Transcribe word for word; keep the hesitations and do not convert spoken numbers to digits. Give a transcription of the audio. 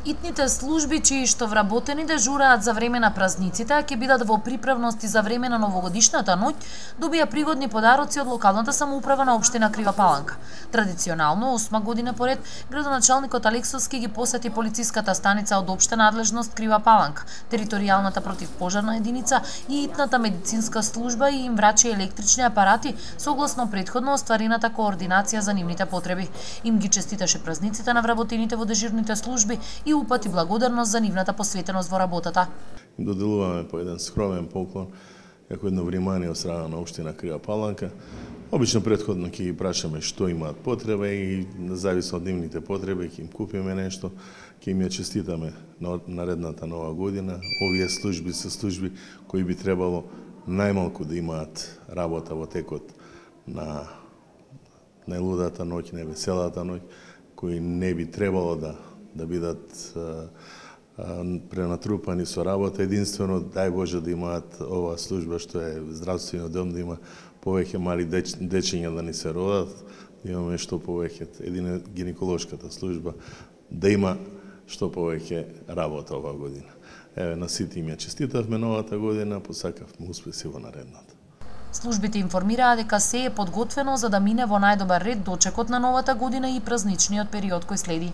Итните служби чии што вработени дежураат за време на празниците, а ќе бидат во приправности за време на новогодишната ноќ, добија пригодни подароци од локалната самоуправа на општина Крива Паланка. Традиционално, осма година поред, градоначалникот Алексовски ги посети полициската станица од општа надлежност Крива Паланка, територијалната противпожарна единица и итната медицинска служба и им врачи електрични апарати согласно претходно остварената координација за нивните потреби. Им ги честиташе празниците на вработените во дежурните служби и упати благодарност за нивната посветеност во работата. Доделуваме по еден скромен поклон, како едно внимание од страна на општина Крива Паланка. Обично претходно ќе ги прашаме што имаат потреба и зависно од нивните потреби ќе им купиме нешто, ќе им ја честитаме на наредната нова година. Овие служби се служби кои би требало најмалку да имаат работа во текот на најлудата ноќ, невеселата ноќ, кои не би требало да да бидат а, а, пренатрупани со работа. Единствено, дај Боже да имаат оваа служба што е здравствениот дом, да има повеќе мали деч, дечиња да ни се родат, да имаме што повеќе, едина гинеколошката служба, да има што повеќе работа оваа година. Еве, на сите им ја честитавме новата година, посакавме успеси во наредната. Службите информираа дека се е подготвено за да мине во најдобар ред дочекот на новата година и празничниот период кој следи.